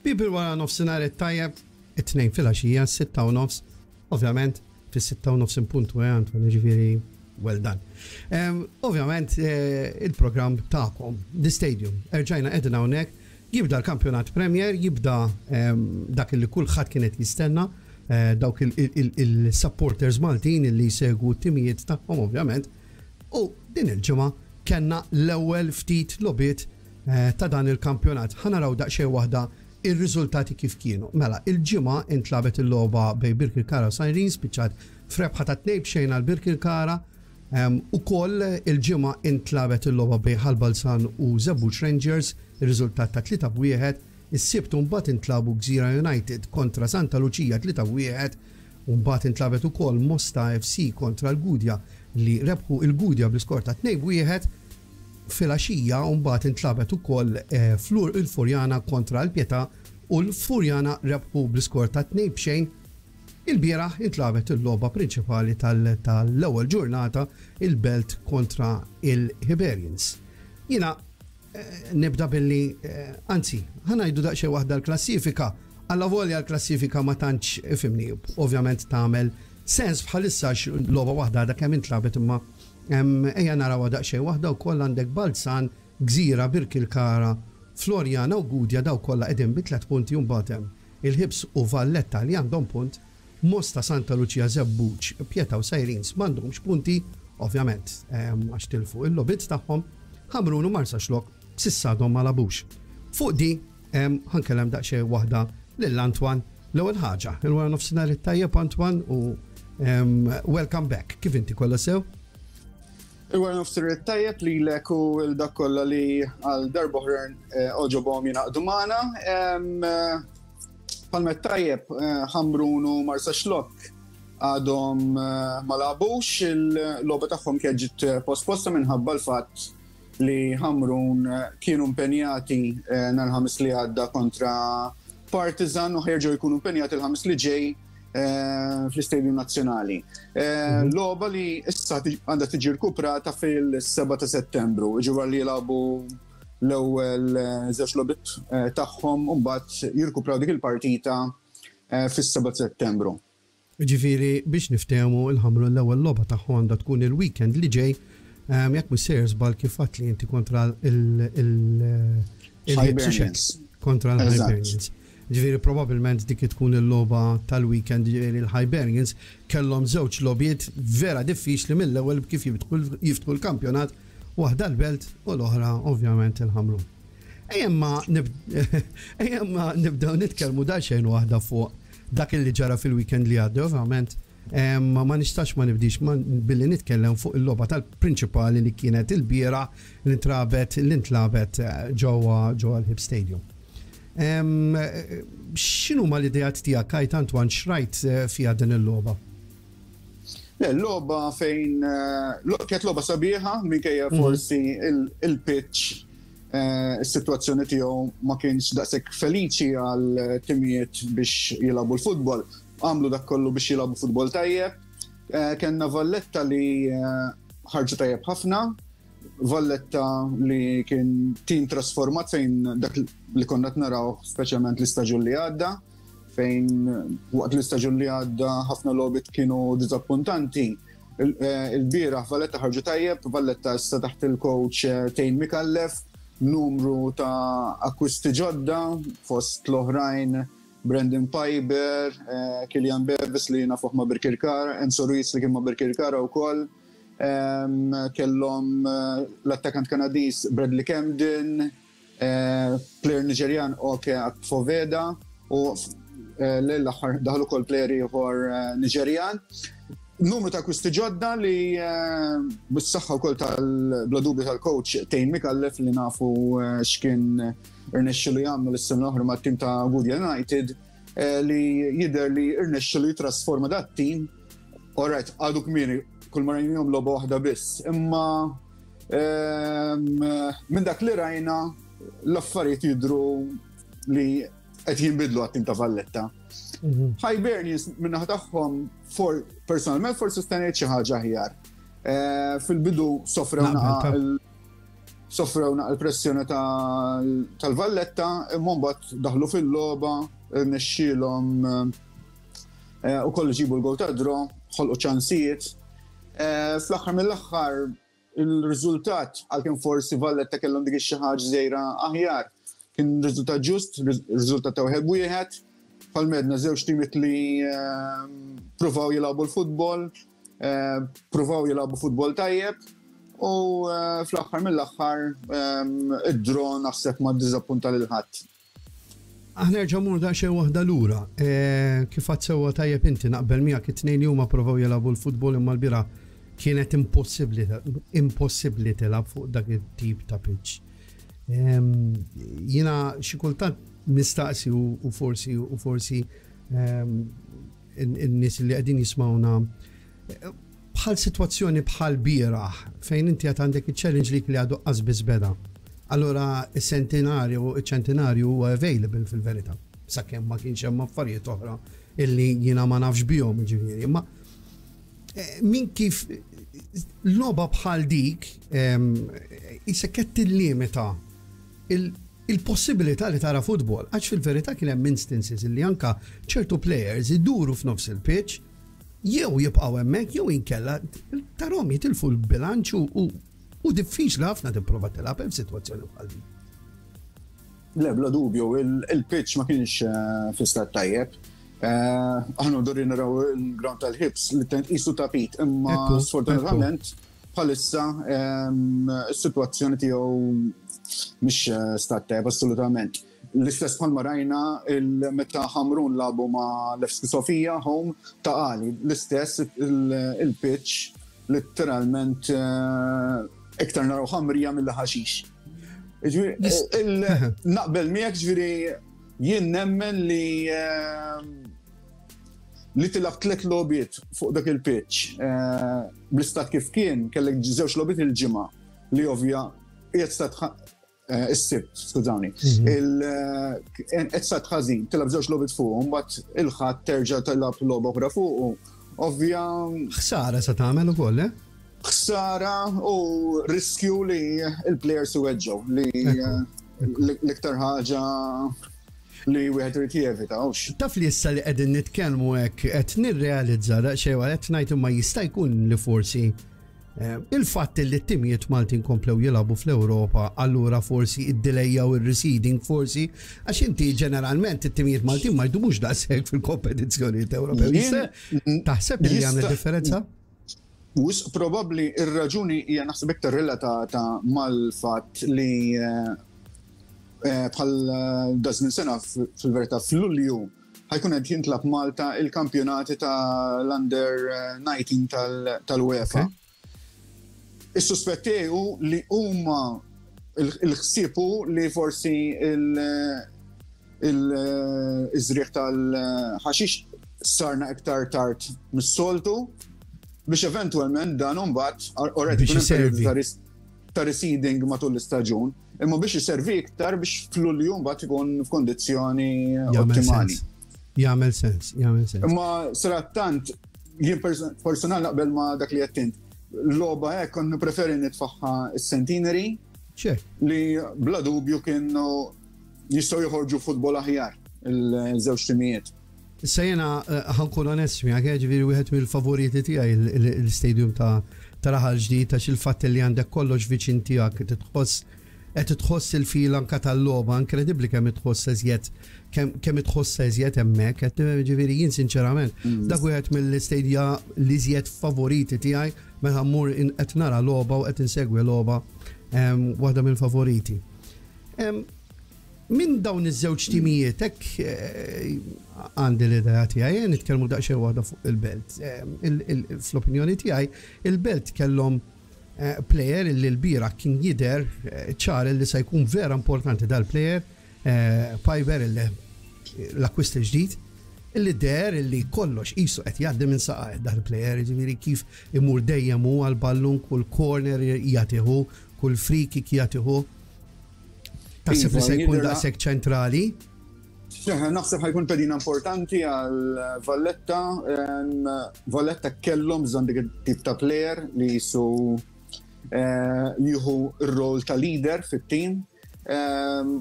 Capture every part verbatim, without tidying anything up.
People, wara nofsinhar it-tajjeb, it-Tnejn filgħaxija, sitta u nofs, ovvjament, fis-sitta u nofs in puntu, eh, Antoine, ġifieri, well done. Um, ovvjament, eh, il-programm tagħkom, The Stadium, erġajna qegħdin hawnhekk, jibda l-kampjonat Premier, jibda um, dak li kulħadd kienet jistenna, eh, dawk il-supporters Maltin li jsegwu t-timijiet tagħhom ovvjament, u din il-ġimgħa kellna l-ewwel ftit logħbiet eh, ta' dan il-kampjonat. Ħa naraw daqsxejn waħda ir-riżultati kif kienu. Mela, il-Ġimgħa intlagħbet il-logħba bejn Birkirkara u Sirens, spiċċat f'rebħa ta' tnejn b'xejn għal Birkirkara. Um, Ukoll il-Ġimgħa intlagħbet il-logħba bejn Ħal Balzan u Żebbuġ Rangers, ir-riżultat ta' tlieta b'wieħed. Is-Sibt mbagħad intlagħbu Gżira United kontra Santa Lucia tlieta b'wieħed. U mbagħad intlagħbet ukoll Mosta F C kontra l-Gudja, li rebħu il-Gudja bl-iskor ta' tnejn b'wieħed. Filgħaxija mbagħad intlagħbet ukoll eh, Flur il-Furjana kontra l-Pietà u l-Furjana rebħu bl-iskor ta' tnejn b'xejn. Il-bieraħ intlagħbet il-logħba prinċipali tal-ewwel ġurnata, il-Belt kontra il-Hibernians. Jiena eh, nibda billi, eh, anzi, ħa ngħidu daqsxejn waħda l-klassifika. Alla volja l-klassifika ma tantx, ifhimni, ovvjament tagħmel sens bħalissa logħba waħda għadha kemm intlagħbet, imma ejja naraw daqsxejn waħda wkoll. Għandek Balzan, Gżira, Birkirkara, Floriana u Gudja, daw kollha qegħdin bi tliet punti, u mbagħad hemm il-Ħibs u Valletta li għandhom punt, Mosta, Santa Lucia, Żebbuġ, Pietà u Sirens m'għandhomx punti, ovvjament, għax tilfu il-logħbiet tagħhom, Ħamrun u Marsaxlokk s'issa għadhom ma lagħbux. Fuq di, ħa nkellem daqsxejn waħda lil Antoine. L-ewwel ħaġa, il-wara nofsinhar it-tajjeb, Antoine, u welcome back. Kif inti, kollha sew? Il-wara nofsinhar it-tajjeb lilek u lil dawk kollha li għal darb'oħra eh, għoġobhom jingħaqdu magħna. Palmet tajjeb, eh, Ħamrun u Marsaxlokk għadhom eh, ma lagħbux, il-logħba tagħhom kienet ġiet posposta minħabba l-fatt li Ħamrun kienu impenjati nhar il-Ħamis li għadda kontra Partizan u ħa jerġgħu jkunu impenjati il-Ħamis li ġej fl-Istadium Nazzjonali. Mhm. Logħba li issa għandha tiġi rkuprata fil-sebgħa ta' Settembru, ġifieri li jilagħbu l-ewwel żewġ logħbiet tagħhom u mbagħad jirkupraw dik il-partita fis-sebgħa ta' Settembru. Ġifieri, biex niftehmu, il-Ħamrun l-ewwel logħba tagħhom għandha tkun il-weekend li ġej, jekk mhux sejjer żball, kif li inti, kontra il- kontra l-Hibernians. Ġifieri probabbilment dik tkun il-logħba tal-weekend. Ġifieri l-Hibernians kellhom żewġ logħbiet vera diffiċli mill-ewwel kif jiftħu l-kampjonat, waħda l-Belt u l-oħra ovvjament il-Ħamrun. Ejja nibdew nitkellmu daqsxejn waħda fuq dak li ġara fil-weekend li għadda, ovvjament ma nistax ma nibdix billi nitkellem fuq il-logħba tal-prinċipali li kienet il-bieraħ li ntlagħbet li ntlagħbet eh, ġewwa ġewwa l-Hibs Stadium. X'inhuma l-ideat tiegħek, Kajt Antoine, x'rajt eh, fiha din il-logħba? Le, l-logħba fejn eh, kienet logħba sabiħa minkejja mhm. forsi il-pitch, is-sitwazzjoni tiegħu ma kienx daqshekk feliċi għal timijiet biex jilagħbu l-futbol. Għamlu dak kollu biex jilagħbu futbol tajjeb. Kellna Valletta li ħarġu tajjeb ħafna, Valletta li kien tim trasformat fejn dak li konna naraw speċjalment l-istaġun li għadda, fejn waqt l-istaġun li għadda ħafna logħbiet kienu dizappuntanti. Il-bieraħ Valletta ħarġu tajjeb, Valletta issa taħt il-coach eh, Tane Mikallef, numru ta' akkwisti ġodda, fost l-oħrajn Brandon Piber, eh, Kilian Bevis li nafuh ma' Birkirkara, Enzo Ruiz li kien ma' Birkirkara u koll. Kellhom eh, l-attakant Kanadis Bradley Camden, eh, player Nigerjan Oke Akfoveda u l-aħħar daħlu kol player ieħor Nigerjan. Numru ta' akkwisti ġodda li bis-saħħa wkoll tal-bla dubju tal-coach Tane Mikallef, li nafu x'kien irnexxilu jagħmlu l-sena l-oħra mat-tim ta' Gudja United, li jidher li irnexxilu jitrasforma dat tim. Alright, għadu kmieni, kull ma rajnihom logħba waħda biss, imma minn dak li rajna l-affarijiet jidru li qed jinbidlu għat-tim ta' Valletta. Mhm. Hibernians min-naħa tagħhom for personalment forsi stennejt xi ħaġa aħjar. Eh, fil-bidu sofrew Sofrew naqra l-pressjoni tal-Valletta, imma mbagħad daħlu fil-logħba, nexxielhom eh, ukoll ġibu l-gol ta' draw, ħolqu ċansijiet. Eh, fl-aħħar mill-aħħar il-riżultat, għalkemm forsi Valletta kellhom dik xi ħaġa żgħira aħjar, kien riżultat ġust, riżultat ta' wieħed wieħed. Palmedna żewġ timiet li eh, provaw jilagħbu l-futbol, eh, provaw jilagħbu futbol tajjeb u eh, fl-aħħar mill-aħħar id-draw naħseb ma ddiżappunta lil ħadd. Aħna nerġa' mmur daqsxejn waħda lura. Kif għedt sewwa tajjeb inti, naqbel miegħek, it-tnejn li huma provaw jilagħbu l-futbol, imma l-bieraħ kienet impossibbli impossibbli tilgħab fuq dak it-tip ta' pitch. Jiena xi kultant nistaqsi u forsi u forsi in-nies li qegħdin jismawna, bħal sitwazzjoni bħal bieraħ fejn inti għad għandek il-Challenge League li għadu qas beda. Allora il-sentinarju, il-ċentinarju huwa available fil-verità. Sakemm ma kienx hemm affarijiet oħra illi jiena ma nafx bihom, ġifieri. Ma eh, min kif logħba bħal dik issa qed tillimita il-possibilità li tara futbol, għax fil-verità kien hemm instances li anka ċertu players iduru f'nofs il-pitch, jew jibqgħu hemmhekk jew inkella tarahom jitilfu l-bilanċ u u diffiċli ħafna tipprova tilgħab hemm sitwazzjoni bħal din. Le, bla dubju, il-pitch ma kienx eh, fi stat tajjeb. Eh, aħna duri naraw il-ground tal-Ħibs li tent qisu tapit, imma sfortunatament bħalissa is-sitwazzjoni tiegħu mhix eh, stat tajjeb assolutament. L-istess bħalma rajna meta Ħamrun lagħbu ma' Levski Sofia home Ta' Qali, l-istess il-pitch literalment eh, iktar naraw ħamrija mill-ħaxix. Naqbel miegħek, ġifieri jien nemmen li li tilgħab tlet logħbiet fuq dak il-pitch eh, bl-istat kif kien, kellek żewġ logħbiet il-ġimgħa li ovvja qiegħed stat eh, is-Sibt, skużawni. Mhm. Qed stat ħażin, tilgħab żewġ logħbiet fuq, mbagħad il-Ħadd terġa' tilgħab logħba oħra fuq. Ovvja. Ħsara sa tagħmel ukoll, eh? Ħsara u riskju li il-players iweġġgħu, li l-iktar ħaġa li wieħed irid jevita. Taf li issa li qegħdin nitkellmu hekk qed nirrealizza daqsxejn, qed ngħid imma jista' jkun li forsi eh, il-fatt li t-timijiet Maltin komplew jilagħbu fl-Ewropa, allura forsi id-delay u il-reseeding forsi, għax inti ġeneralment it-timijiet Maltin ma jdumux daqshekk fil-kompetizzjonijiet Ewropew. Taħseb li għamlet differenza? Wisq probabbli ir-raġuni hija naħseb iktar relatata mal-fatt li eh, Eh, bħal eh, dażmin sena, fil-verità fl-Lulju ħa jkun qed jintlagħab Malta il-kampjonati tal-Under nineteen tal-UEFA. Is-suspetti hu li huma il-ħsiebu li forsi il-żrigħ tal-ħaxix sarna iktar tard mis-soltu biex eventualment dan mbagħad already ta' reseeding matul l-istaġun, imma biex jiservi iktar biex fl-Lulju mbagħad ikun f'kondizzjoni ottimali. Jagħmel sens, jagħmel sens. Imma sarattant jien personal naqbel ma dak li għedt. Logħba hekk kont nippreferi nitfagħha s-Centenary li bla dubju kienu jistgħu joħorġu futbol aħjar il-żewġ timijiet. Issa jena eh, ħa nkun onest miegħek, ġifieri wieħed mill-favoriti tiegħi l-stadium ta' ta' Raħal Ġdid, għax il-fatt li għandek kollox viċin tiegħek, titħoss qed tħoss il-feel anka tal-logħba, inkredibbli kemm itħoss eżjed kemm itħoss eżjed hemmhekk, qed ġifieri jien sinċerament mm. dak wieħed mill-istadia li iżjed favoriti tiegħi meta mmur qed nara logħba u qed insegwi logħba, waħda mill-favoriti. Min dawn iż-żewġ timijiet hekk eh, għandi l-idea tiegħi, eh, nitkellmu daqsxejn waħda fuq il-Belt. Fl-opinjoni tiegħi, il-Belt kellhom eh, player li l-bieraħ kien jidher ċar li se jkun vera importanti dal-player, Piper, l-akwist ġdid, illi deher illi kollox qisu qed jgħaddi minn saqajh dal-player, ġifieri kif imur dejjem hu għal-ballun, kull corner jagħtihu, kull free kick jagħtihu. Taħseb li se jkun daqshekk ċentrali? Naħseb ħa jkun pedina importanti għal Valletta. Valletta kellhom bżonn dik tip ta' player li jisu jieħu r-rol ta' leader fit-tim.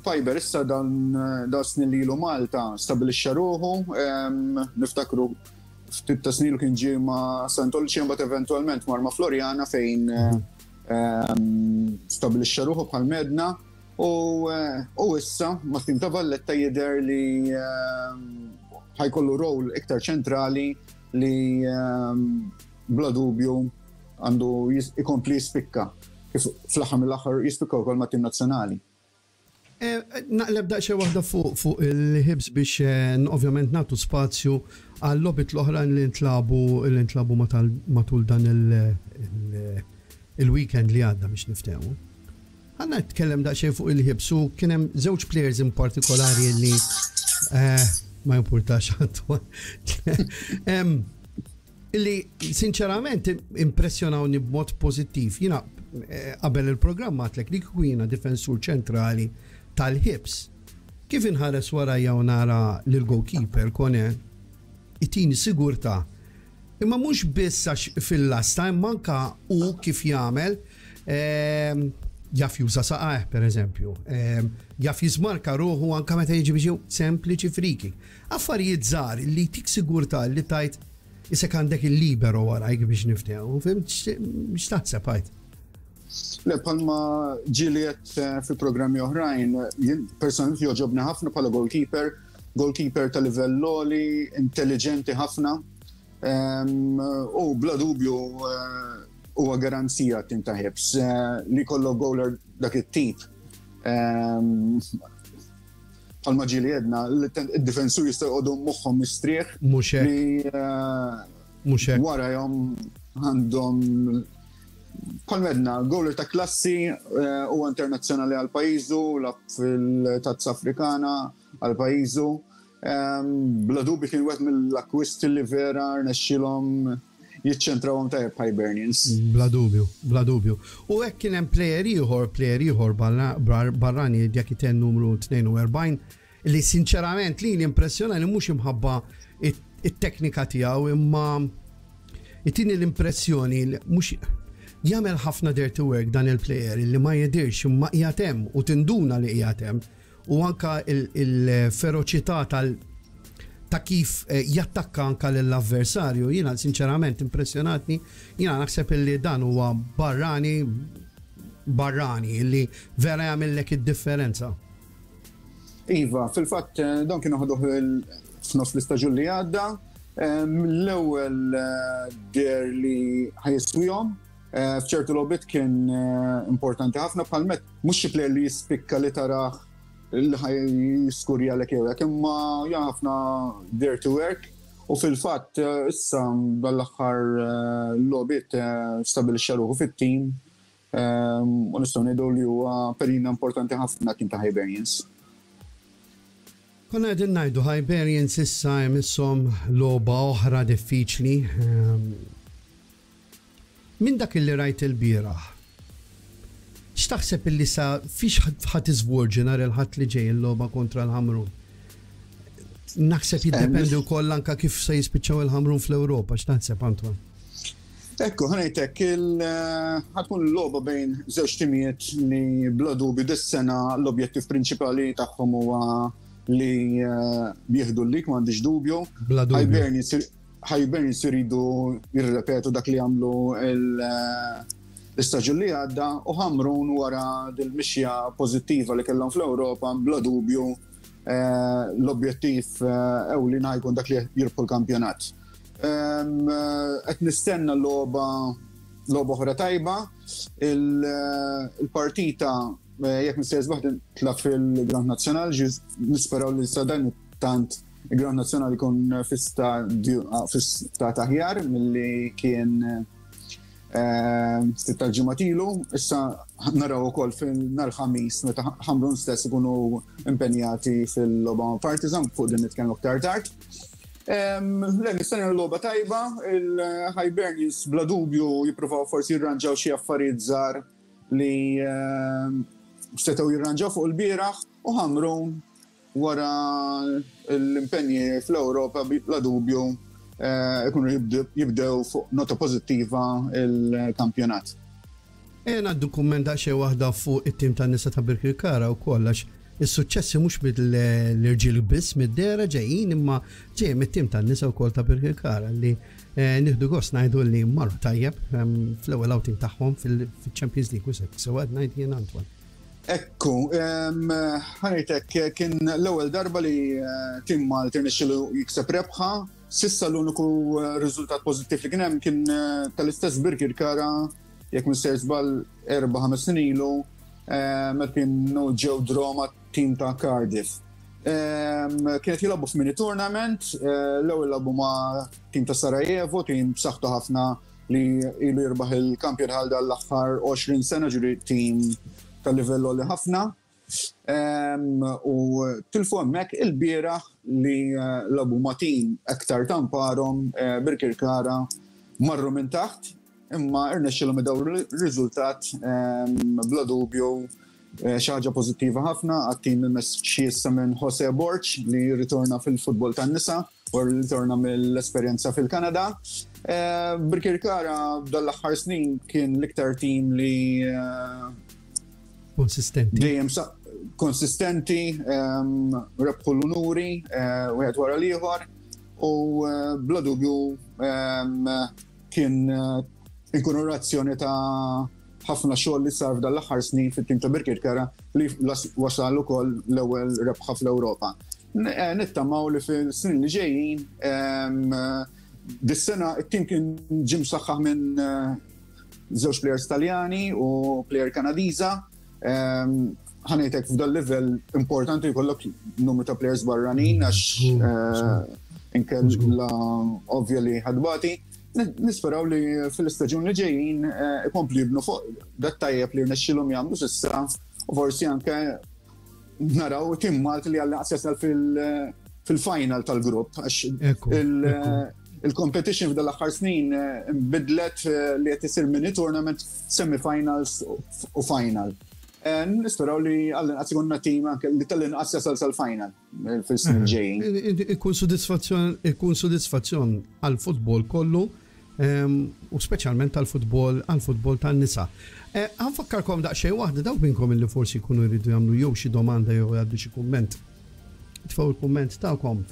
Paiber issa dan da snin li ilu Malta stabilixxa ruħu, niftakru ftit ta' snin kien ġie ma' Santolci, mbagħad eventwalment mar ma' Floriana fejn stabilixxa ruħu bħal medna u issa ma' tim ta' Valletta jidher li ħajkollu rol iktar ċentrali li bla dubju għandu ikompli jispikka. Kif fl-aħħar mill-aħħar jispikka wkoll ma' tim nazzjonali. Naqleb daqsxejn waħda fuq il-Hibs biex ovvjament nagħtu spazju għal logħbiet l-oħra li ntlabu li ntlabu matul dan il-weekend li għadda biex niftehmu. Għanna nitkellem daqsxejn fuq il-Hibs u kien hemm żewġ players in partikolari li ma jimpurtax Antoine. Illi sinċerament impressjonawni b'mod pożittiv. Jiena qabel il-programm għedtlek li kieku jiena difensur ċentrali tal-Hibs. Kif inħares warajja u nara lil goalkeeper Kone itini sigurtà. Imma mhux biss għax fil-lasta, imma anka u kif jagħmel jaf juża saqajh per eżempju, jaf jiżmarka ruħu anka meta jiġi biex sempliċi free kick. Affarijiet żgħar li tik sigurtà li tajt isek għandek il-libero warajk biex niftehmu, fhimt x'taħseb għajt? Le, palma ġiliet fi programmi oħrajn, jien personalment joġobni ħafna bħala goalkeeper, goalkeeper ta' livell għoli, intelligenti ħafna, u bla dubju huwa garanzija tim ta' Hibs li kollu goaler dak it-tip. Palma ġili jedna, id-difensur jista' jqogħdu moħħhom mistrieħ. Mhux hekk. Li Mhux hekk. warajhom għandhom palmedna, goaler ta' klassi u internazzjonali għal pajjiżu, lagħab fil-Tazza Afrikana għal pajjiżu. Bla dubju kien wieħed mill-akkwisti li vera rnexxilhom jiċċentrawhom tajjeb Hibernians. Bla dubju, bla dubju. U hekk kien hemm player ieħor, player ieħor barrani dik numru tnejn u erbgħin li sinċerament li l-impressjona li mhux imħabba it-teknika tiegħu, imma itini l-impressjoni li mhux jagħmel ħafna dirty work dan il-player li ma jidirx imma qiegħed hemm u tinduna li qiegħed hemm, u anka il-feroċità tal ta' kif jattakka anka l-avversarju, jiena sinċerament impressjonatni, jiena naħseb illi dan huwa barrani barrani illi vera jagħmellek id-differenza. Iva, fil-fatt dan kienu ħaduh f'nofs l-istaġun li għadda, l-ewwel deher li ħa jiswihom, f'ċertu logħbiet kien importanti ħafna bħal met, mhux xi player li jispikka li taraħ li ħa jiskurja l hekk, imma ħafna dirty work u fil-fatt issa dal-aħħar logħbiet stabilixxa ruħu fit-tim u nistgħu ngħidu li huwa perina importanti ħafna kien ta' Hibernians. Konna qegħdin ngħidu Hibernians issa jmisshom logħba oħra diffiċli. Min dak illi rajt il-bieraħ, x'taħseb illi sa fiex ħa tiżvolġi nhar il-Ħadd li ġej il-logħba kontra l-Ħamrun? Naħseb jiddependi wkoll anka kif se jispiċċaw il-Ħamrun fl-Ewropa, x'taħseb, Antoine? Ekku, ħa ngħidlek, ħa tkun l-logħba bejn żewġ timijiet li bla dubju dis-sena l-objettiv prinċipali tagħhom huwa li jieħdu l-lig, m'għandix dubju. Bla dubju. Hibernians iridu jirrepetu dak li għamlu l-istaġun li għadda u Ħamrun wara dil-mixja pożittiva li kellhom fl-Ewropa, bla dubju l-objettiv ewlieni jkun dak li jirbħu l-kampjonat. Qed nistenna logħba logħba oħra tajba, il-partita, jekk m'iniex żbaljat, tla fil-Ground Nazzjonal, nisperaw li sa dan tant il-Ground Nazzjonal ikun fi stat aħjar milli kien ftit tal-ġimgħat ilu. Issa naraw ukoll fil-nhar Ħamis meta Ħamrun stess ikunu impenjati fil-logħba Partizan, fuq din nitkellmu aktar tard. Le, nistenna l-logħba tajba, il-Hibernians bla dubju jippruvaw forsi jirranġaw xi affarijiet żgħar li setgħu jirranġaw fuq il-bieraħ u Ħamrun wara l-impenji fl-Ewropa bla dubju ikunu jibdew fuq nota pożittiva il-kampjonat. Ejja ngħaddu kumment daqsxejn waħda fuq it-tim tan-nisa ta' Birkirkara wkoll, għax is-suċċessi mhux mill-irġiel biss mid-dehra ġejjin, imma ġejjin mit-tim tan-nisa wkoll ta' Birkirkara li eh, nieħdu gost ngħidu li marru tajjeb ehm, fl-ewwel outing tagħhom fil-Champions League u hekk. Sewa ngħid jien, Antoine? Ekku, ħa ngħidlek, kien l-ewwel darba li eh, tim Malti rnexxielu jikseb rebħa. S'issa l-uniku eh, riżultat pożittiv li kien hemm kien tal-istess Birkirkara, jekk m'iniex sejjer żball, erba' ħames snin ilu, meta kienu ġew draw ma' tim ta' Cardiff. Kienet jilagħbu f'mini tournament, eh, l-ewwel lagħbu ma' tim ta' Sarajevo, tim b'saħħtu ħafna li ilu jirbaħ il-kampjon għal l-aħħar għoxrin sena, ġifieri tim ta' livell li ħafna. U tilfu hemmhekk. Il-bieraħ li eh, lagħbu ma' tim aktar tamparhom, eh, Birkirkara, marru minn taħt, imma irnexxilhom idawru r-riżultat. Bla dubju eh, xi ħaġa pożittiva ħafna għat-tim immexxi issa minn Jose Borg, li ritorna fil-futbol tan-nisa u ritorna mill-esperjenza fil-Kanada. Eh, Birkirkara dal-aħħar snin kien l-iktar tim li eh, konsistenti. Dejjem konsistenti, rebħu l-unuri wieħed wara l-ieħor u bla dubju kien inkonorazzjoni ta' ħafna xogħol li sar f'dan l-aħħar snin fit-tim ta' Birkirkara li wasal ukoll l-ewwel rebħa fl-Ewropa. Eh, nittamaw li fil-snin li ġejjin, dis-sena it-tim kien ġie msaħħaħ minn eh, żewġ players Taljani u player Kanadiża. Ħa ngħidlek, f'dal livell importanti jkollok numru ta' players barranin, għax eh, inkella ovvja li ħa tbati. Nisperaw li fil-istaġun li ġejjin eh, ikomplu jibnu fuq dat tajjeb li rnexxilhom jagħmlu s'issa u forsi anke naraw tim Malti li għall jasal fil-final tal-grupp, għax il-competition f'dal aħħar snin eh, bidlet eh, li qed isir mini tournament, semi-finals u final. Nisperaw li għall-inqas ikollna tim anke li tal-inqas jasal sal-final fil-snin ġejjin. Ikun sodisfazzjon, ikun sodisfazzjon għal-futbol kollu u speċjalment għal-futbol għal-futbol tan-nisa. Eh, ħa nfakkarkom daqsxejn waħda, dawk minnkom li forsi jkunu jridu jagħmlu jew xi domanda jew jgħaddu xi kumment. Tfgħu il-kumment tagħkom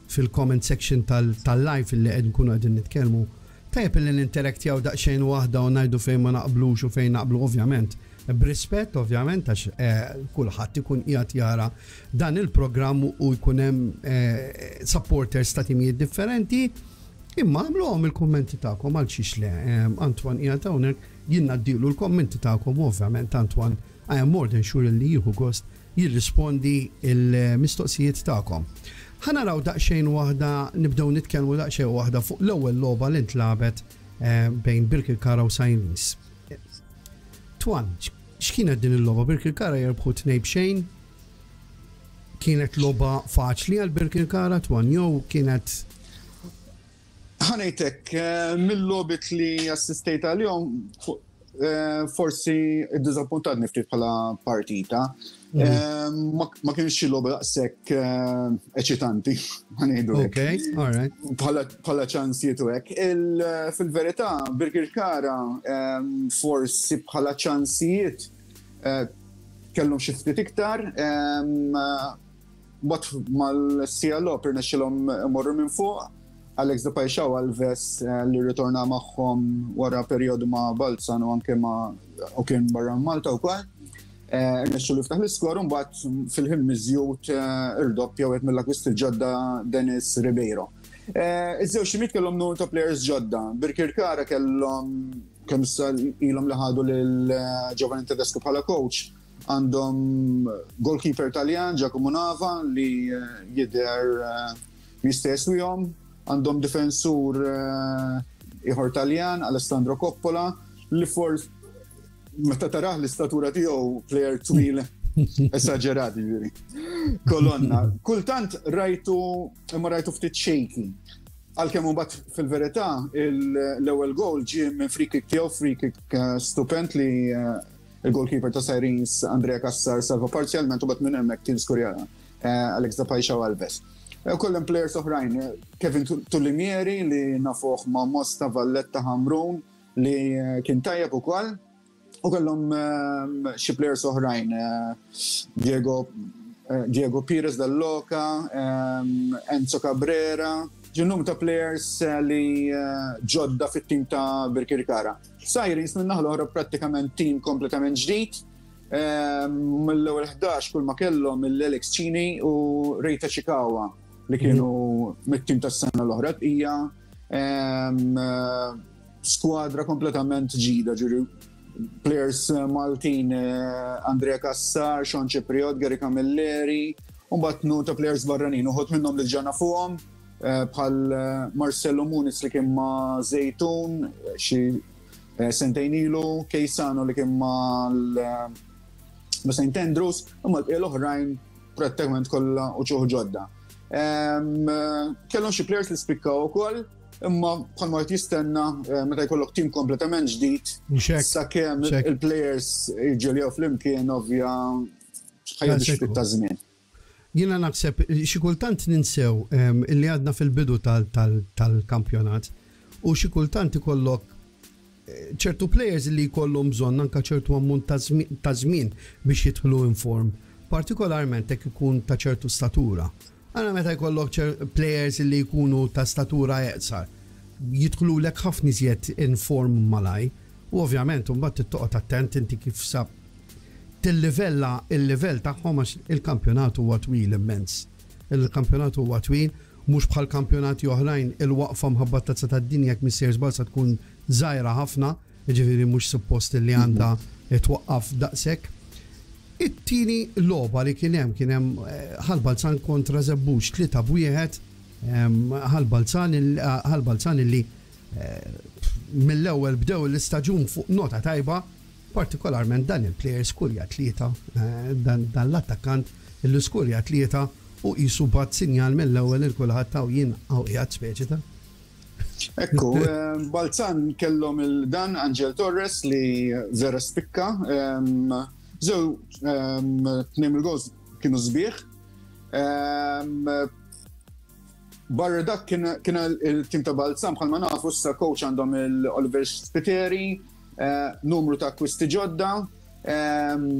fil-comment section tal-live li qed nkunu qegħdin nitkellmu. Tajjeb li ninteraktjaw daqsxejn waħda u ngħidu fejn ma naqblux u fejn naqblu, ovvjament. B'rispett, ovvjament, għax eh, kulħadd ikun qiegħed jara dan il-programm u jkun hemm eh, supporters ta' timijiet differenti. Imma għamluhom il-kommenti tagħkom, għal xiex le. Antoine qiegħed hawnhekk, jien ngħaddilu l-kommenti tagħkom. Ovvjament Antoine, I am more than sure li jieħu gost jirrispondi il-mistoqsijiet tagħkom. Ħa naraw daqsxejn waħda, nibdew nitkellmu daqsxejn waħda fuq l-ewwel logħba li ntlagħbet eh, bejn Birkirkara u Sirens. Twan, x'kienet din il-logħba? Birkirkara jirbħu tnejn b'xejn. Kienet logħba faċli għal Birkirkara, Twan, jew kienet Ħa ngħidlek, eh, mill-logħbiet li assistejt għalihom, eh, forsi iddiżappuntatni ftit bħala partita. Mhm. Eh, ma kienx xi logħba daqshekk eċitanti, ħa ngħidu. Ok, all right. Bħala ċansijiet u hekk. Fil-verità, Birkirkara forsi bħala ċansijiet kellhom xi ftit iktar, but mal-siegħa logħob irnexxilhom imorru minn fuq. Alex de Paixão Alves, eh, li ritorna magħhom wara periodu ma' Balzan u anke ma' u kien barra Malta u kollox. Eh, Rnexxu li ftaħ l-iskor, mbagħad fil-ħin miżjud eh, irdoppja wieħed mill-akkwist il-ġodda, Dennis Ribeiro. Iż-żewġ timiet kellhom numru ta' players ġodda. Birkirkara kellhom, kemm ilhom li ħadu lil Giovanni Tedesco bħala coach, għandhom goalkeeper Taljan, Giacomo Nava, li jidher jista' jeswihom. Għandhom difensur eh, ieħor Taljan, Alessandro Coppola, li fors meta tarah l-istatura tiegħu, player twil esaġerat, ġifieri. Kolonna. Kultant rajtu, imma rajtu ftit shaky. Għalkemm mbagħad fil-verità l-ewwel goal ġie minn free kick tiegħu, free kick eh, stupend li eh, il-goalkeeper ta' Sirens Andrea Cassar salva parzjalment, u mbagħad minn hemmhekk kien skurja Alex da Paixão Alves. Kollem players oħrajn, Kevin Tullimieri li nafuh ma' Mosta, Valletta, Hamrun, li kien tajjeb ukoll. U kellhom xi players oħrajn, Diego Diego Pires Dalloka, Enzo Cabrera, ġinnum ta' players li ġodda fit-tim ta' Birkirkara. Sirens minn naħa l-oħra prattikament tim kompletament ġdid. Mill-ewwel ħdax kull ma kellhom il-Alex Cini u Rejta Chikawa li kienu mit-tim tas-sena l-oħra. Hija skwadra kompletament ġdida, ġuri players Maltin, Andrea Cassar, Sean Cipriot, Gary Camilleri, u mbagħad numru ta' players barranin, uħud minnhom li ġana fuqhom, bħal Marcelo Muniz li kien ma' Zejtun xi sentejn ilu, Keisano li kien ma' Saint Andrews, imma l-bqija l-oħrajn prattikament kollha uċuħ ġodda. Kellhom xi players li spikkaw ukoll, imma bħalma qed jistenna meta jkollok tim kompletament ġdid, sakemm il-players jiġġeljaw flimkien, ovvja ħajja ftit ta' żmien. Jiena naħseb xi kultant ninsew illi għadna fil-bidu tal-kampjonat u xi kultant ikollok ċertu players li jkollhom bżonn anke ċertu ammont ta' żmien biex jidħlu in form, partikolarment jekk ikun ta' ċertu statura. Għana meta jkollok players li jkunu ta' statura eqsar, jidħlu lek ħafna iżjed in form malaj, u ovvjament mbagħad toqgħod attent inti kif sab tillivella il-livell tagħhom għax il-kampjonat huwa twil immens. Il-kampjonat huwa twil, mhux bħal kampjonati oħrajn, il-waqfa mħabba Tazza tad-Dinja, jekk m'iniex sejjer żball, sa tkun żgħira ħafna, jiġifieri mhux suppost li għandha twaqqaf daqshekk. It-tieni logħba li kien hemm kien hemm Ħal Balzan kontra Żebbuġ, tlieta b'wieħed. Ħal Balzan Ħal Balzan illi mill-ewwel bdew l-istaġun fuq nota tajba, partikolarment dan il-player skurja tlieta, dan l-attakkant illi skurja tlieta u qisu bagħat sinjal mill-ewwel il kulħadd taw jien hawn qiegħed speċi ta' Ekku, Balzan kellhom il-dan Angel Torres li vera spikka. Zew, tnejn il-goals kienu sbieħ. Barra dak kien il-tim ta' Balzan, bħalma nafu issa coach għandhom il-Oliver Spiteri, numru ta' akkwisti ġodda.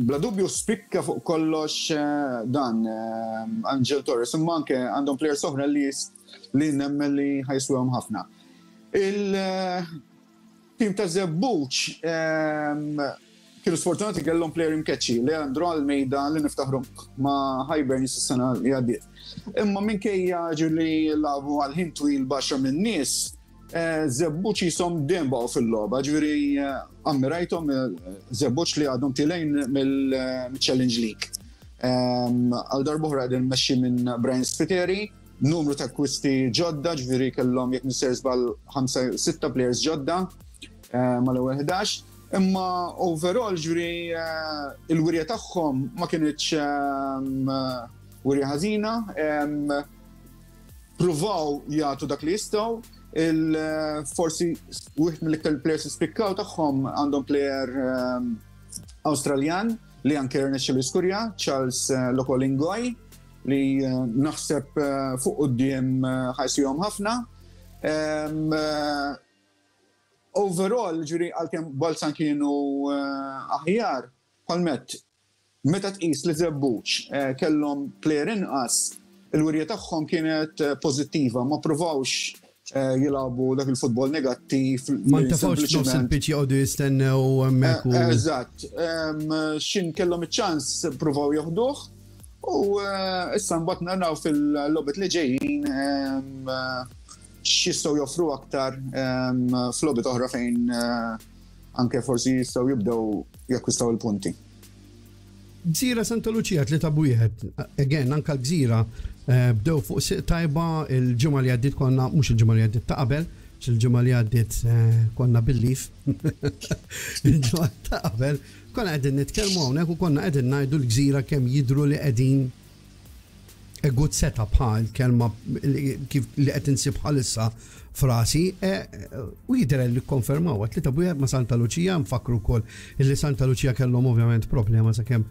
Bla dubju spikka fuq kollox dan Angel Torres, imma anke għandhom players oħra li li nemmen li ħa jiswewhom ħafna. Il-tim ta' Żebbuġ kienu sfortunati, kellhom player imkeċċi, Leandro Almeida, li niftaħru ma' Hibernians is-sena li għaddiet. Imma minkejja ġu li lagħbu għal ħin twil b'għaxra minn nies, Żebbuġ jisom dejjem baqgħu fil-logħba, ġifieri ammirajthom Żebbuġ li għadhom tilgħin mill-Challenge League. Għal darb'oħra qegħdin mmexxi minn Brian Spiteri, numru ta' akkwisti ġodda, ġifieri kellhom, jekk m'iniex sejjer żball, ħamsa, sitta players ġodda mal-ewwel ħdax. Imma overall, ġifieri, il-wirja tagħhom ma kinitx wirja ħażina, pruvaw jagħtu dak li jistgħu, il-forsi wieħed mill-iktar players spikkaw tagħhom, għandhom player Australjan li anke rnexxielu skurja, Charles Lokolingoi, li naħseb fuq quddiem ħa jiswihom ħafna. Overall, ġifieri, għalkemm Balzan kienu aħjar, palmet, meta tqis li Żebbuġ kellhom player inqas, il-wirja tagħhom kienet pożittiva, ma provawx jilagħbu dak il-futbol negattiv. Ma ntefgħux nofs il-pitch jqogħdu jistennew hemmhekk. Eżatt, xin kellhom iċ-ċans provaw joħduh u issa mbagħad naraw fil-logħbiet li ġejjin x'jistgħu joffru aktar f'logħbiet oħra fejn anke forsi jistgħu jibdew jakkwistaw il-punti. Gżira Santa Lucia tlieta b'wieħed. Again, anka l-Gżira bdew fuq siq tajba. Il-ġimgħa li għaddiet konna, mhux il-ġimgħa li għaddiet, ta' qabel, il-ġimgħa li għaddiet konna bil-leave. Il-ġimgħa ta' qabel konna qegħdin nitkellmu hawnhekk u konna qegħdin ngħidu l-Gżira kemm jidru li qegħdin a good setup, bħal kelma kif li qed insib bħalissa frasi, u jidher li konfermaw tlieta b'wieħed ma' Santa Lucia. Nfakru wkoll illi Santa Lucia kellhom ovvjament problema sakemm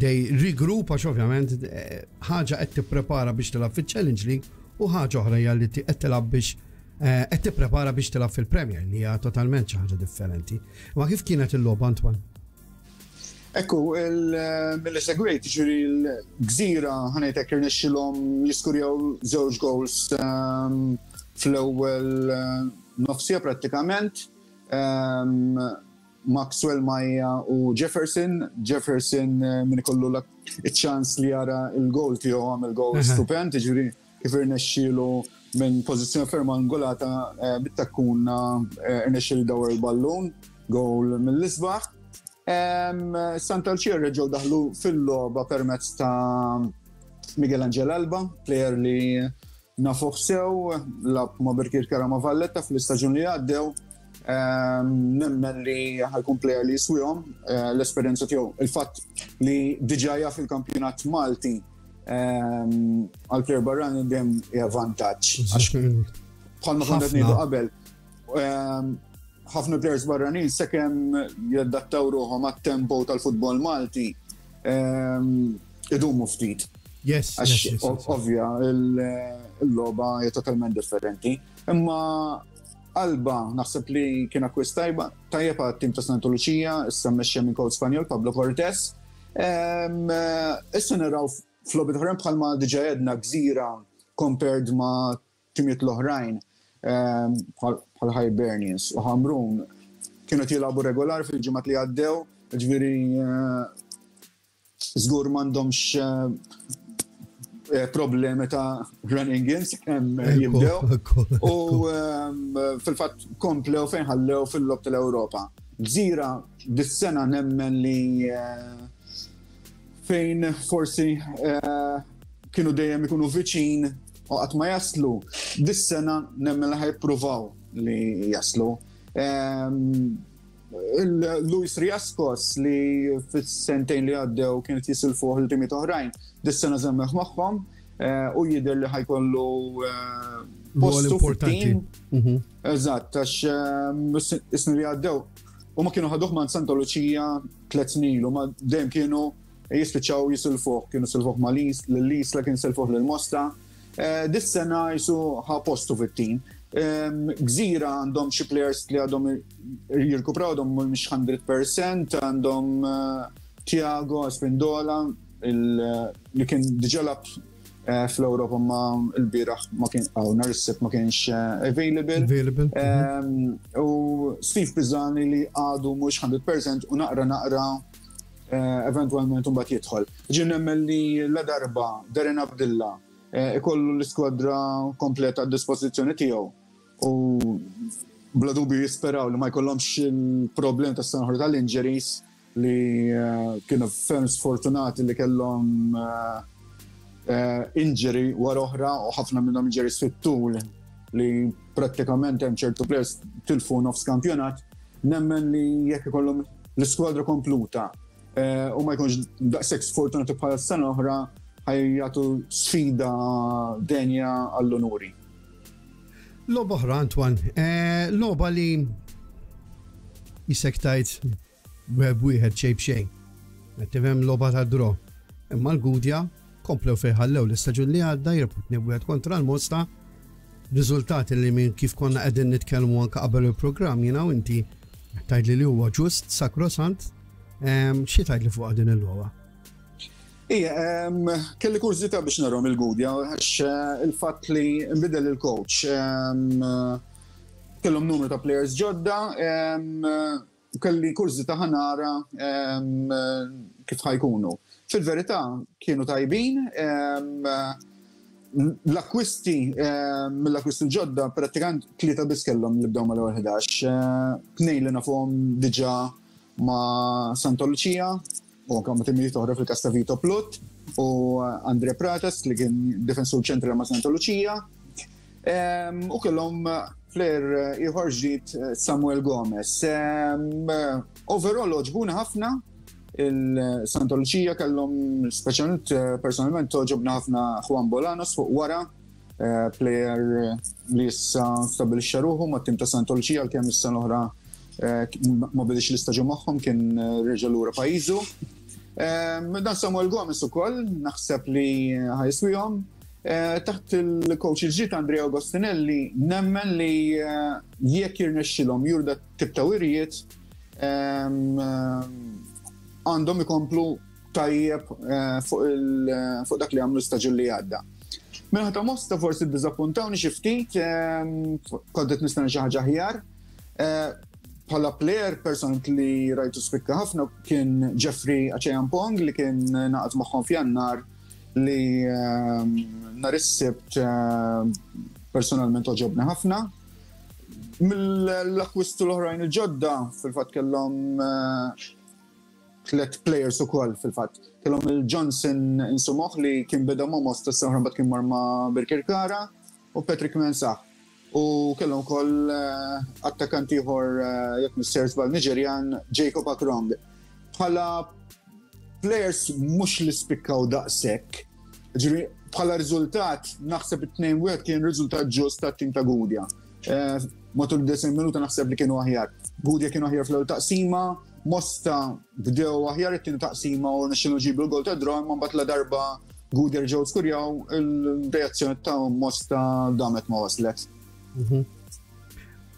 they regroup, għax ovvjament ħaġa qed tipprepara biex tilgħab fiċ-Challenge League u ħaġa oħra hija li qed tilgħab biex Qed tipprepara biex tilgħab fil-Premier, li hija totalment xi ħaġa differenti. Ma kif kienet il-logħba, Antoine? Ekku, mill segwejt, ġifieri l-Gżira, ħa ngħidlek, irnexxilhom jiskurjaw żewġ goals ehm, fl-ewwel eh, nofs siegħa prattikament. Ehm, Maxwell Maja u Jefferson. Jefferson eh, min ikollu iċ-ċans li jara il-goal tiegħu, għamel goal stupend, ġifieri kif irnexxielu minn pożizzjoni ferm angolata eh, bit-takkuna irnexxielu dawar il-ballun, goal mill-isbaħ. Santa Lucia reġgħu daħlu fil-logħba permezz ta' Miguel Angel Alba, player li nafuh sew, lagħab ma' Birkirkara, ma' Valletta fl-istaġun li għaddew. Nemmen li ħa jkun player li jiswihom eh, l-esperjenza tiegħu. Il-fatt li diġà jaf il-kampjonat Malti għal player barrani dejjem hija vantaġġ. Bħalma konna ngħidu qabel, ħafna players barranin sakemm jaddattaw ruħhom għat-tempo tal-futbol Malti idumu ftit. Yes, yes, ovvja, il-logħba hija totalment differenti. Imma Alba naħseb li kien akkwist tajba, tajjeb għat-tim ta' Santa Lucia, issa mmexxija minn coach Spanjol Pablo Cortés. Issa naraw f'logħbiet oħrajn, bħalma diġà għedna, Gżira compared ma' timiet l-oħrajn bħal Hibernians u Ħamrun kienu jilagħbu regolar fil-ġimgħat li għaddew, ġifieri żgur m'għandhomx eh, problemi ta' running in kemm jibdew. U fil-fatt komplew fejn ħallew fil-logħob tal-Ewropa. Gżira dis-sena nemmen li eh, fejn forsi eh, kienu dejjem ikunu viċin u qatt ma jaslu, dis-sena nemmen li ħa jippruvaw li jaslu. Luis Riascos, li fis-sentejn li għaddew kienet jisilfuh lil timiet oħrajn, dis-sena żammewh magħhom eh, u jidher li ħa jkollu eh, postu importanti. Mhm. Eżatt, għax is-snin li għaddew u ma kienu ħaduh ma' Santa Lucia tliet snin u ma dejjem kienu jispiċċaw jisilfuh, kienu silfuh ma' l-Isla, kien silfuh l-Mosta. Eh, dis-sena jisu ħa postu fit-tim. Gżira għandhom xi players li għadhom jirkupraw, għadhom mhux mija fil-mija, għandhom eh, Tiago Spindola li kien diġà lagħab eh, fl-Ewropa, ma l-bieraħ ma kien għaw nhar is-Sibt ma kienx available. Available. Mhm. U Steve Pisani li għadu mhux mija fil-mija u naqra naqra eventualment mbagħad jidħol. Ġien nemmen li la darba Darren Abdilla ikollu l-iskwadra kompleta għad dispożizzjoni tiegħu u bla dubju jisperaw li ma jkollhomx il-problem ta' sena tal-injuries, li eh, kienu ferm sfortunati li kellhom eh, eh, injury wara oħra u ħafna minnhom injuries fit-tul li prattikament hemm ċertu players tilfu nofs kampjonat. Nemmen li jekk ikollhom l-iskwadra kompluta u ma jkunx daqshekk sfortunati bħala sena oħra, ħa jagħtu sfida denja għall-onuri. Logħba oħra, Antoine, eh, logħba li jisek tajt web wieħed, xejn b'xejn. Tifhem, logħba ta' draw. Imma l-Gudja komplew fejn ħallew l-istaġun li għadda, jirbħu tnejn kontra l-Mosta. Riżultati li minn kif konna qegħdin nitkellmu anke qabel il-programm jiena u inti tgħid li huwa ġust, sakrosant. Xi tgħid li fuq din il-logħba? Ija, kelli kurżità biex narahom il-Gudja, għax eh, il-fatt li nbidel il-coach, kellhom numru ta' players ġodda, kelli kurżità ħa nara kif ħa jkunu. Fil-verità kienu tajbin, l-akkwisti, mill-akkwisti ġodda, prattikament tlieta biss kellhom li bdew mal-ewwel ħdax. Tnejn li nafuhom diġà ma' Santa Lucia u anke ma' timijiet oħra, fil-każ ta' Vito Plut u Andre Pratas li kien defensur ċentrali ma' Santa Lucia. U kellhom player ieħor ġdid, Samuel Gomez. Overall għoġbuna ħafna il-Santa Lucia, kellhom speċjalment, personalment għoġobna ħafna Juan Bolanos fuq wara, player li issa stabilixxa ruħu ma' tim ta' Santa Lucia, għalkemm issa l-oħra ma bidix l-istaġun magħhom, kien reġa' lura pajjiżu. Dan Samuel Gomez ukoll naħseb li ħa jiswihom. Eh, taħt il-coach il-ġdid Andrea Agostinelli nemmen li eh, jekk jirnexxilhom juru dat-tip ta' wirjiet ehm, għandhom ikomplu tajjeb eh, fuq dak li għamlu staġun li għadda. Min-naħa ta' Mosta forsi ddiżappuntawni xi ftit, ehm, kont qed nistenna xi ħaġa aħjar. Bħala player person li rajtu spikka ħafna kien Jeffrey Acheampong li kien ngħaqad magħhom f'Jannar li ehm, nhar is-Sibt ehm, personalment għoġobni ħafna. Mill-akkwistu l-oħrajn il-ġodda fil-fatt kellhom eh, tlet players ukoll fil-fatt. Kellhom il-Johnson Insumoh li kien beda ma' Mosta s-sena mbagħad kien mar ma' Birkirkara u Patrick Mensah. U kellhom ukoll eh, attakant ieħor eh, jekk m'iniex żball Niġerjan Jacob Akrong. Bħala players mhux li spikkaw daqshekk. Ġifieri bħala riżultat naħseb it-tnejn wieħed kien riżultat ġust tat-tim ta' Gudja. Eh, matul disgħin minuta naħseb li kienu aħjar. Gudja kienu aħjar fl-ewwel taqsima, Mosta bdew aħjar it-tieni taqsima u rnexxielhom jġibu l-gol ta' draw, ma mbagħad la darba Gudja ġew skurjaw il-reazzjoni ta' Mosta damet ma waslet. Mhm.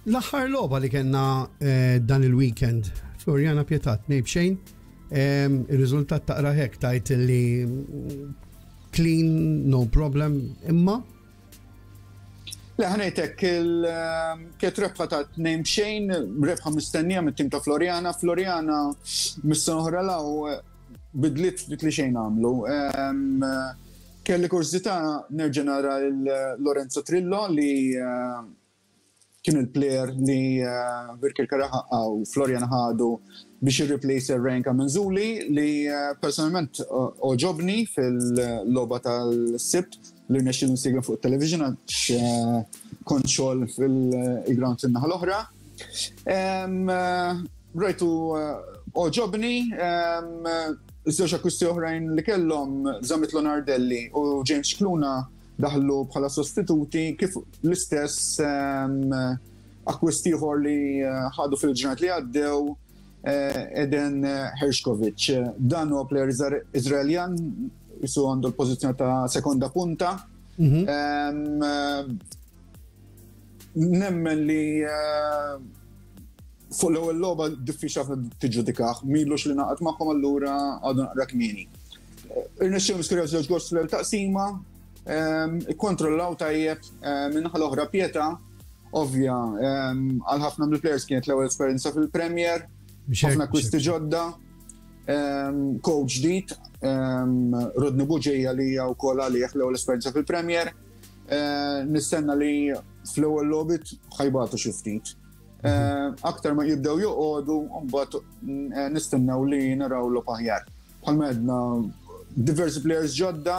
L-aħħar logħba li kellna eh, dan il-weekend, Floriana Pietà tnejn b'xejn, il-riżultat taqra hekk tajt li clean, no problem, imma Le, ħa ngħidlek, kienet rebħa ta' tnejn b'xejn, rebħa mistennija mit-tim ta' Floriana. Floriana mis-sena oħra law bidliet ftit li xejn għamlu. Kelli kurżità nerġa' nara Lorenzo Trillo li eh, kien il-player li eh, Birkirkara u Floriana ħadu biex jirreplace Ryan Camenzuli li eh, personalment għoġobni fil-logħba tal-Sibt li rnexxieli nsegwi fuq television għax kont xogħol fil-ground fin-naħa l-oħra. Rajtu għoġobni, żewġ akkwisti oħrajn li kellhom Zamit Lonardelli u James Kluna daħlu bħala sostituti kif l-istess akkwisti ieħor li ħadu fil-ġranet li għaddew Eden Hershkovic. Dan huwa player Izraeljan jisu għandu l-pożizzjoni ta' sekonda punta. Mhm. Nemmen li fuq l-ewwel logħba diffiċli ħafna tiġġudikah, m'ilux li ngħaqad magħhom allura għadu naqra kmieni. Irnexxielhom skurjaw żewġ gols fl taqsima, ikkontrollaw tajjeb min-naħa l-oħra Pietà, ovvja, għal ħafna mill-players kienet l-ewwel esperjenza fil-Premier, ħafna akkwisti ġodda, coach ġdid, Rodney Buġeja li hija wkoll għalih l-ewwel esperjenza fil-Premier. Nistenna li fl-ewwel logħbiet ħa jbatu xi ftit. Aktar ma jibdew joqogħdu, mbagħad nistennew li naraw logħob aħjar. Bħalma għedna diversi players ġodda,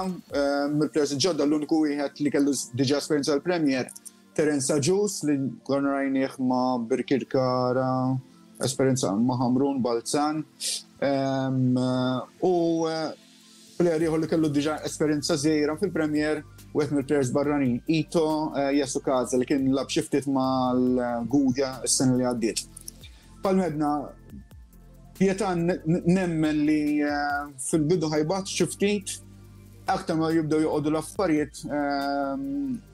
mill-players ġodda l-uniku wieħed li kellu diġà esperjenza l-Premier, Terence Agius li konna rajnieh ma' Birkirkara, esperjenza ma' Hamrun, Balzan. U player ieħor li kellu diġà esperjenza żgħira fil-Premier, wieħed mill-players barranin, Ito Yasukaze li kien lagħab xi ftit mal-Gudja s-sena li għaddiet. Bħalma għedna, Pietà nemmen li fil-bidu ħa jbatu xi ftit, aktar ma jibdew joqogħdu l-affarijiet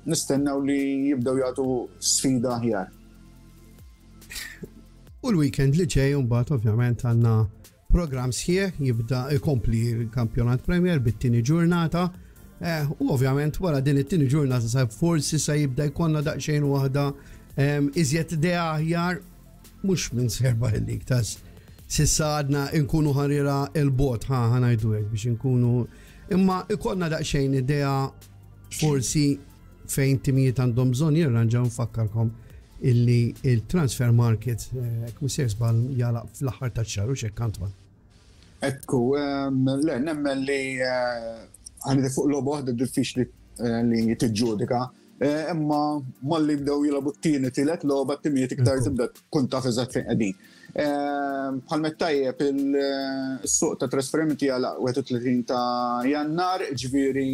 nistennew li jibdew jagħtu sfida aħjar. U l-weekend li ġej mbagħad ovvjament għandna program sħiħ jibda ikompli l-kampjonat Premier bit-tieni ġurnata. Eh, u ovvjament wara din it-tieni ġurnata sa forsi sa jibda jkollna daqsxejn waħda iżjed idea aħjar mhux minn serba il-lig tas s'issa għadna nkunu ħarira il-bot ħa ħa ngħidu hekk biex inkunu imma ikollna daqsxejn idea forsi fejn timijiet għandhom bżonn jirranġaw nfakkarkom illi il-transfer market eh, mhux żball jagħlaq fl-aħħar tax-xahar u x'hekk Antoine. Ekku, le, nemmen li għandi fuq logħba waħda diffiċli eh, li tiġġudika. Eh, imma malli bdew jilagħbu t-tieni tielet logħba t-timijiet iktar tibda tkun taf eżatt fejn qegħdin. Bħalma tajjeb il-suq ta' trasferimenti għal wieħed u tletin ta' Jannar, ġifieri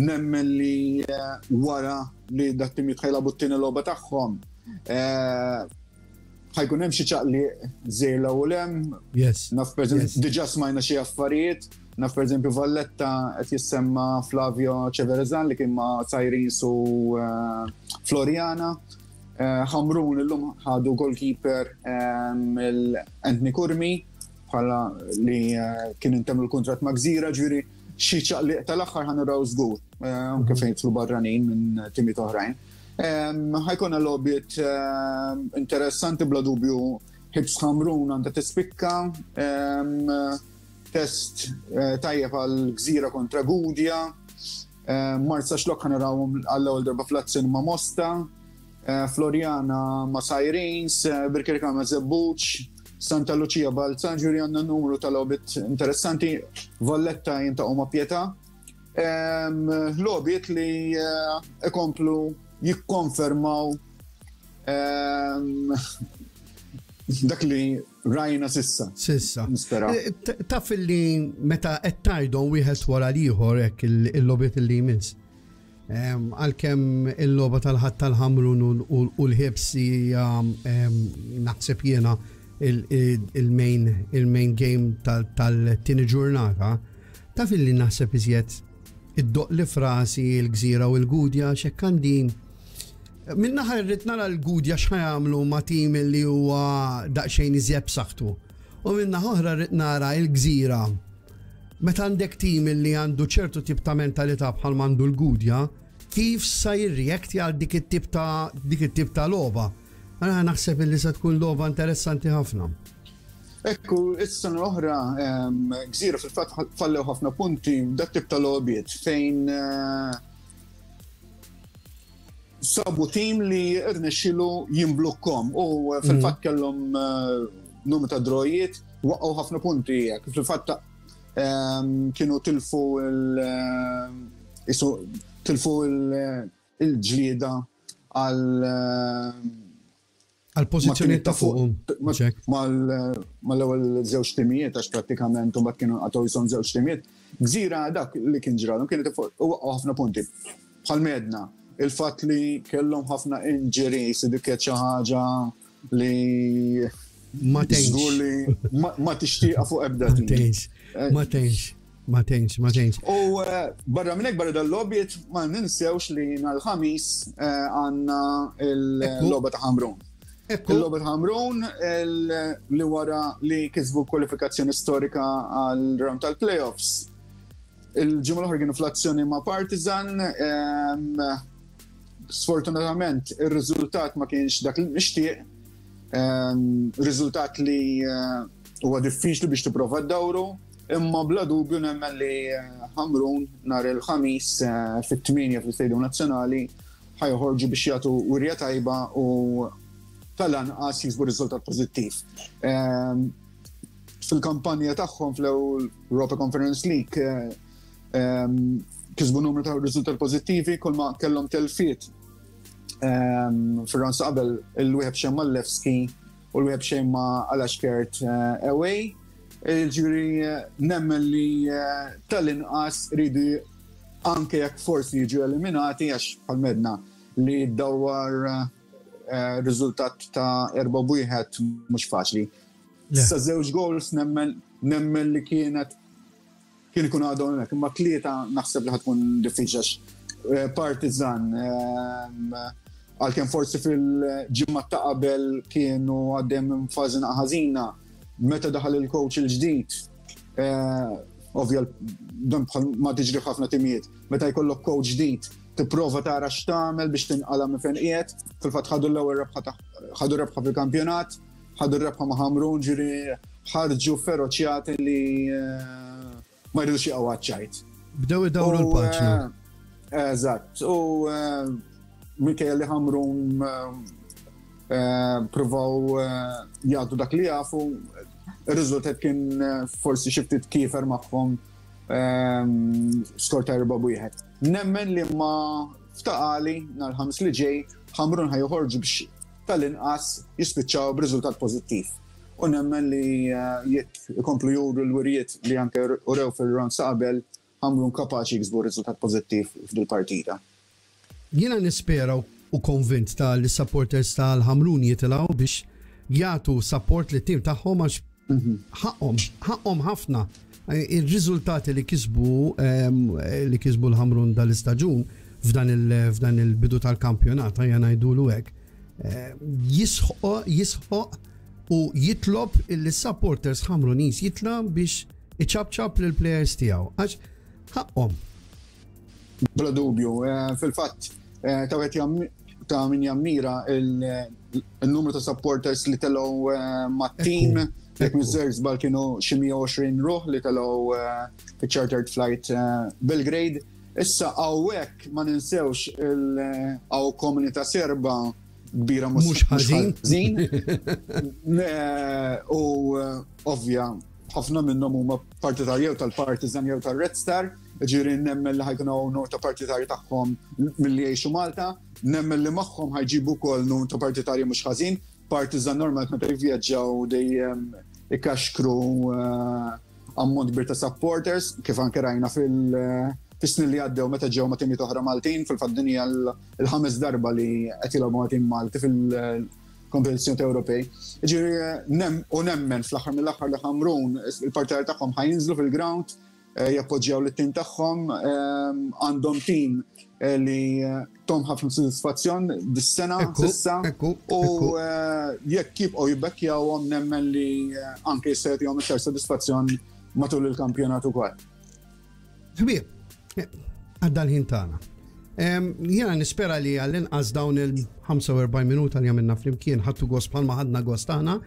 nemmen li eh, wara li dat-timijiet ħa jilagħbu t-tieni logħba tagħhom ħa jkun hemm xi ċaqli żejla u lem. Yes. Naf diġà smajna xi affarijiet, Naf, per eżempju, Valletta qed jissemma Flavio Ceverezan li kien ma' Sirens u eh, Floriana. Eh, Ħamrun illum ħadu goalkeeper il-Anthony Curmi bħala li eh, kien intemm il-kontrat ma' Gżira, ġifieri xi ċaqliq tal-aħħar ħa naraw żgur, anke fejn jidħlu barranin minn timijiet oħrajn. Ħa jkollna logħbiet interessanti, bla dubju Hibs Ħamrun għandha tispikka, test eh, tajjeb għal Gżira kontra Gudja, eh, Marsaxlokk ħa narawhom għall-ewwel darba fl-azzjoni ma' Mosta, eh, Floriana ma' Sirens, Birkirkara ma' Żebbuġ, Santa Lucia Balzan, ġifieri għandna numru ta' logħbiet interessanti, Valletta jiltaqgħu ma' Pietà. Logħbiet li ikomplu jikkonfermaw dak li rajna s'issa. S'issa. Nispera. Eh, taf li meta qed tgħidhom wieħed wara l-ieħor hekk il-logħbiet li jmiss. Għalkemm il-logħba tal-Ħadd tal-Ħamrun u l-Ħibs hija, naħseb jiena, il-main il-main game tal-tieni ġurnata, taf li naħseb iżjed iddoqq li f'rasi l-Gżira u l-Gudja xekk għandi Minnaħa rrid nara l-Gudja x'ħa jagħmlu ma' tim li huwa daqsxejn iżjed b'saħħtu. U minnaħa oħra rrid nara l-Gżira. Meta għandek tim li għandu ċertu tip ta' mentalità bħal m'għandu l-Gudja, kif sa jirreakti għal dik it-tip ta' dik it-tip ta' logħba? Għana naħseb li se tkun logħba interessanti ħafna. Ekku, is-sena l-oħra Gżira fil-fatt fallew ħafna punti dak tip ta' logħbiet fejn eh, sabu tim li rnexxilu jimblukkom u eh, fil-fatt mhm. kellhom eh, numru ta' drawijiet, waqgħu ħafna punti. Fil-fatt kienu tilfu il- tilfu il-ġlieda għal Għal pożizzjoni ta' fuq. Mal-ewwel żewġ timijiet, għax prattikament mbagħad kienu għataw jisom żewġ timijiet. Gżira dak li kien ġralhom kienet ħafna punti. Bħal medna, il-fatt li kellhom ħafna injuries, dik xi ħaġa li Ma tgħinx. Li ma tixtieqa fuq ebda. Ma tgħinx. Ma tgħinx. Ma tgħinx, ma tgħinx. U eh, barra minn hekk, barra dal-logħbiet, ma ninsewx li nhar il-Ħamis eh, għandna il-logħba ta' Ħamrun. Il-logħba ta' Ħamrun li wara li kisbu kwalifikazzjoni storika għal round tal-playoffs. Il-ġimgħa l-oħra kienu fl-azzjoni ma' Partizan. Sfortunatament ir-riżultat ma kienx dak li mixtieq. Riżultat li eh, huwa diffiċli biex tipprova ddawru, imma bla dubju nemmen li eh, Ħamrun nhar il-Ħamis eh, fit-tmienja fl-Istadium Nazzjonali ħa joħorġu biex jagħtu wirja tajba u tal-anqas jiksbu riżultat pożittiv. Ehm, fil-kampanja tagħhom fl-Europa Conference League eh, ehm, kisbu numru ta' riżultat pożittivi, kull ma kellhom telfiet ehm, fir-round qabel, il-wieħed xejn mal-Levski u l-wieħed xejn ma' Alashkert eh, away. Ġifieri eh, nemmen li tal-inqas ridu, anke jekk forsi jiġu eliminati, għax bħal medna li dawar riżultat ta' erba' wieħed mhux faċli. Sa żewġ goals nemmen nemmen li kienet kien ikun għadhom hemmhekk, imma tlieta naħseb li ħa tkun diffiċli eh, Partizan, ehm, għalkemm forsi fil-ġimgħa ta' qabel kienu għaddejjem minn fażi ħażina, meta daħal il-coach il-ġdid, eh, ovvja dan bħal ma tiġri ħafna timijiet, meta jkollok coach ġdid, tipprova tara x'tagħmel biex tinqala minn fejn qiegħed. Fil-fatt ħadu l-ewwel rebħa, ħadu rebħa fil-kampjonat, ħadu rebħa ma' Ħamrun, ġifieri ħarġu feroċjati li eh, ma jridux jaqgħu għaċ-ċajt. Bdew idawru l-paġna. Eh, eżatt, u eh, minkejja li Ħamrun provaw jagħtu dak li jafu, ir-riżultat kien forsi xi ftit kiefer magħhom, skor ta' erba' wieħed. Nemmen li ma ftaqali nhar Ħamis li ġej Ħamrun ħa joħorġu biex tal-inqas jispiċċaw b'riżultat pożittiv. U nemmen li eh, jekk ikomplu juru l-wirijiet li anke urew fil-round sa qabel, Ħamrun kapaċi jiksbu riżultat pożittiv f'dil-partita. Jiena nispera u konvint ta' li supporters tal-Ħamrun jitilgħu biex jagħtu support lit-tim tagħhom għax mhm. ħaqhom, ħaqhom ħafna. Il-riżultati li kisbu li kisbu l-Ħamrun dal-istaġun f'dan il-bidu tal-kampjonat, ejja ngħidulu hekk, jisħoq jisħoq u jitlob il-supporters Ħamruniż jitla biex iċapċap lill-players tiegħu. Għax ħaqhom. Bla dubju, fil-fatt ta' wieħed ta' min jammira il-numru ta' supporters li telgħu mat-team. Jekk m'iniex żball, kienu xi mija u għoxrin ruħ li telgħu fi chartered flight Belgrade. Issa hawnhekk ma ninsewx il-hawn komunità Serba kbira. Mhux ħażin. U ovvja, ħafna minnhom huma partitarji jew tal-Partizan jew tal-Red Star, ġifieri nemmen li ħa jkunu numru ta' partitarji tagħhom milli jgħixu Malta, nemmen li magħhom ħa jġibu wkoll numru ta' partitarji mhux ħażin. Partizan normal meta jivvjaġġaw dejjem ikaxkru ammont kbir ta' supporters, kif anke rajna fil- fis-snin li għaddew meta ġew ma' timijiet oħra Maltin. Fil-fatt din hija l-ħames darba li qed jilagħbu ma' tim Malti fil-kompetizzjoni Ewropej. Ġifieri u nemmen fl-aħħar mill-aħħar li Ħamrun il-partitarji tagħhom ħa jinżlu fil-ground, jappoġġjaw lit-tim tagħhom, għandhom tim li tahom ħafna sodisfazzjon dis-sena s'issa u jekk jibqgħu jibbekkjawhom, nemmen li anke jista' jagħtihom iktar sodisfazzjon matul il-kampjonat ukoll. Ħbieb, għadda l-ħin tagħna. Jiena nispera li għall-inqas dawn il-ħamsa u erbgħin minuta li għamilna flimkien ħadtu gost bħalma ħadna gost aħna.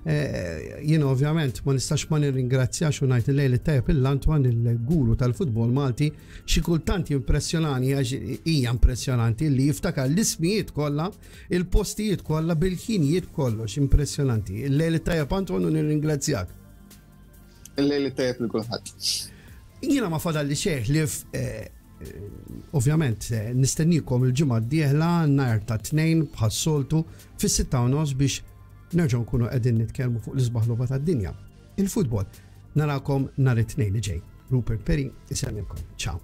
Jiena ovvjament ma nistax ma nirringrazzjax u ngħid il-lejl tajjeb lil Antoine, il-guru tal-futbol Malti. Xi kultant impressjonani, għax hija impressjonanti li jiftakar l-ismijiet kollha, il-postijiet kollha, bil-ħinijiet, kollox, impressjonanti. Il-lejl tajjeb, Antoine, u nirringrazzjak. Il-lejl tajjeb lil kulħadd. Jiena ma fadalli xejn li ovvjament nistennikom il-ġimgħa d-dieħla nhar ta' Tnejn bħas-soltu fis-sitta u nofs biex nerġgħu nkunu qegħdin nitkellmu fuq l-isbaħ logħba tad-dinja, il-futbol. Narakom nhar it-Tnejn li ġej. Rupert Perry isellmilkom. Ciao.